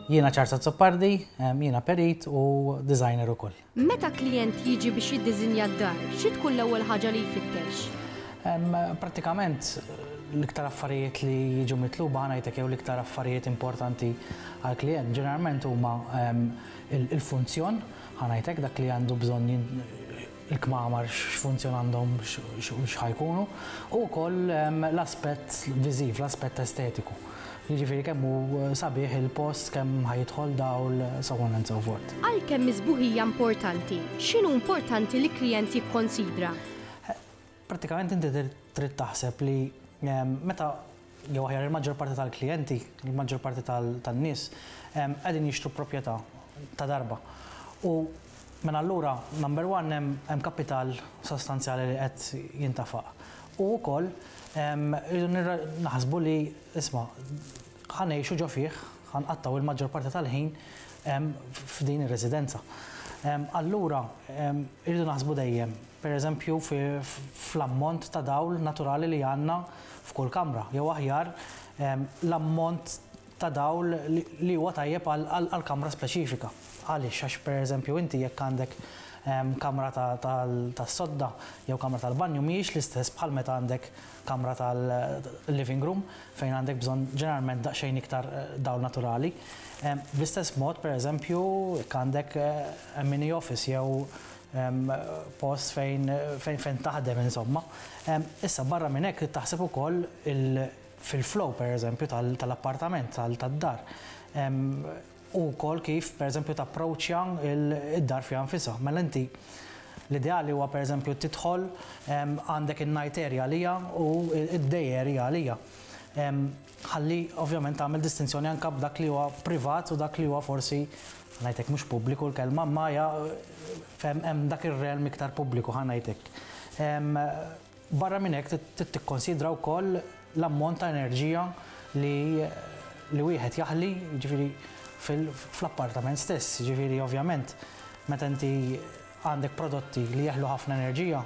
Jiena Charles Azzopardi, jiena perit u designer ukoll. Meta klijent jiġi biex jiddiżinja d-dar, xi tkun l-ewwel ħaġa li jfittex? Prattikament l-iktar affarijiet li jiġu mitluba ħa ngħidlek jew l-iktar affarijiet importanti għall-klijent ġeneralment huma il-funzjon, ħa ngħidlek dak li għandu bżonn il-kmamar x'funzjon għandhom x'ħa jkunu, u wkoll l-aspett viżiv, l-aspett estetiku. Jiġifieri kemm hu sabiħ il-post, kemm ħa jidħol dawl, so on and so forth. Għalkemm is-sbuħija importanti, x'inhu importanti li klijent jikkonsidra? Prattikament inti trid taħseb li meta jew aħjar il-maġġor parti tal-klijenti, il-maġġor parti tan-nies qegħdin jixtru proprjetà ta' darba. U minn allura, number one, hemm kapital sostanzjali li qed jintafaq. U wkoll irridu naħsbu li isma' ħa ngħixu ġo fih, ħa nqattgħu il-maġġor parti tal-ħin f'din ir-residenza. Allura irridu naħsbu dejjem, pereżempju fl-ammont ta' dawl naturali li għandna f'kull kamra, jew aħjar l-ammont ta' dawl li huwa tajjeb għal kamra speċifika. Għaliex? Għax pereżempju inti jekk għandek kamra tas-sodda jew kamra tal-banju mhijiex l-istess bħal meta għandek kamra tal-living room fejn għandek bżonn ġeneralment daqsxejn iktar dawl naturali. Bl-istess mod, pereżempju, jekk għandek mini office jew post fejn fejn taħdem insomma. Issa barra minn hekk trid taħseb ukoll fil-flow pereżempju tal-appartament, tad-dar. U wkoll kif pereżempju tapproċċja d-dar fiha nfisha. Mela inti l-ideali huwa pereżempju tidħol għandek in-night area għalija u d-day area għalija. Ħalli ovvjament tagħmel distinzjoni anke b'dak li huwa privat u dak li huwa forsi ngħidlek mhux pubbliku l-kelma imma hija hemm dak ir-realm iktar pubbliku ħa ngħid hekk. Barra minn hekk trid tikkonsidra wkoll l-ammont ta' enerġija li li wieħed jaħli, jiġifieri fl-appartament stess. Jiġifieri ovvjament meta inti għandek prodotti li jeħlu ħafna enerġija,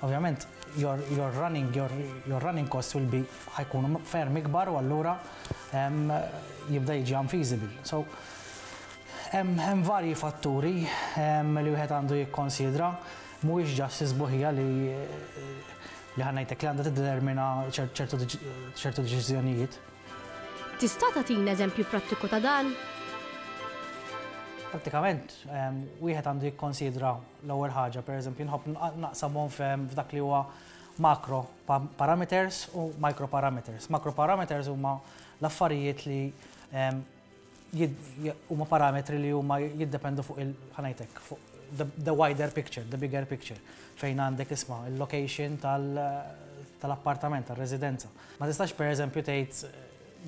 ovvjament your, your running, your, your running costs will be ħa jkunu ferm ikbar u allura jibda jiġi unfeasible. So hemm varji fatturi li wieħed għandu jikkonsidra. Mhuwiex just is-sbuħija li li ħa ngħidlek li għandha tiddetermina ċertu ċertu deċiżjonijiet. Tista' tagħtina eżempju prattiku ta' dan? Prattikament, wieħed għandu jikkonsidra l-ewwel ħaġa, pereżempju, nħobb naqsamhom f'dak li huwa macro parameters u micro parameters. Macro parameters huma l-affarijiet li huma parametri li huma jiddependu fuq il ħa ngħidlek, fuq the wider picture, the bigger picture, fejn għandek isma' il-location tal-appartament, tal-residenza. Ma tistax pereżempju tgħid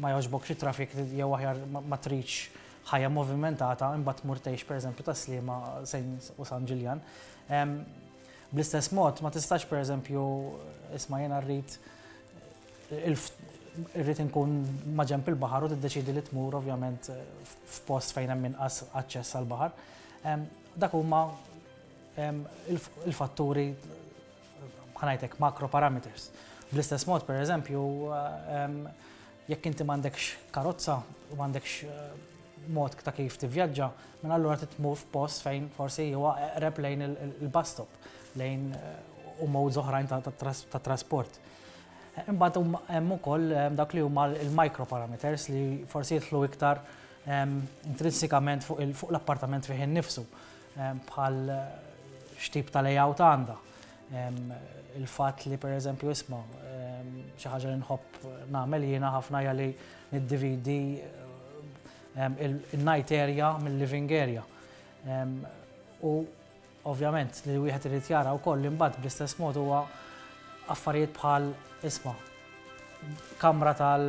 ma jogħġbokx it-traffic jew aħjar ma tridx ħajja movimentata imbagħad tmur tgħix pereżempju Tas-Sliema u San Ġiljan. Bl-istess mod ma tistax pereżempju isma' jiena rrid irrid inkun maġenb il-baħar u tiddeċiedi li tmur ovvjament f'post fejn hemm inqas aċċess għall-baħar. Dak huma il-fatturi ħa ngħidlek macro parameters. Bl-istess mod, per eżempju, jekk inti m'għandekx karozza u m'għandekx mod ta' kif tivvjaġġa, mela allura trid tmur f'post fejn forsi huwa eqreb lejn il-bus stop, lejn u modes oħrajn ta' trasport. Imbagħad hemm ukoll dak li huma l-micro parameters li forsi jidħlu iktar intrinsikament fuq l-appartament fih innifsu, bħal x'tip ta' layout għandha. Il-fatt li pereżempju isma' xi ħaġa li nħobb nagħmel jiena ħafna hija li niddividi il-night area mill-living area. U Ovvjament li wieħed irid jara wkoll imbagħad bl-istess mod huwa affarijiet bħal isma' kamra tal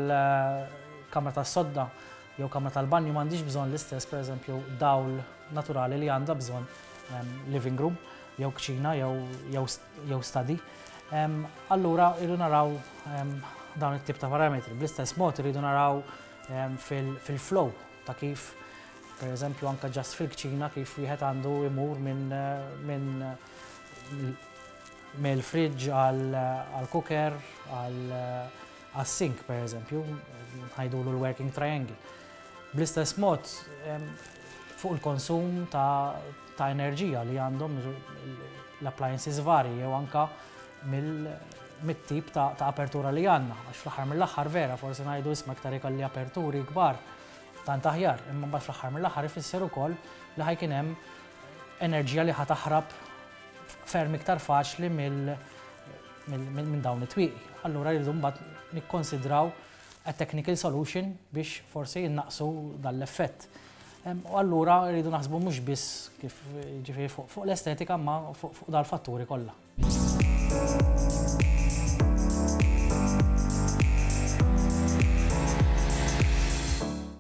kamra tas-sodda jew kamra tal-banju m'għandix bżonn l-istess pereżempju dawl naturali li għandha bżonn living room jew kċina jew jew study. Allura irridu naraw dawn it-tip ta' parametri. Bl-istess mod irridu naraw fil-flow ta' kif Per eżempju anke just fil-kċina kif wieħed għandu imur minn minn mill-fridge għal cooker għal sink per eżempju, ngħidulu l-working triangle. Bl-istess mod fuq il-konsum ta' enerġija li għandhom l-appliances varji jew anka mit-tip ta' apertura li għandna. Għax fl-aħħar mill-aħħar vera forsi ngħidu, "Isma', iktar ikolli aperturi kbar tant aħjar", imma mbagħad fl-aħħar mill-aħħar ifisser ukoll li ħa jkun hemm enerġija li ħa taħrab ferm iktar faċli minn dawn it-twieqi. Allura rridu mbagħad nikkonsidraw a technical solution biex forsi jinnaqsu dal-effett. U allura rridu naħsbu mhux biss kif ġifieri fuq l-estetika, ma fuq dal-fatturi kollha.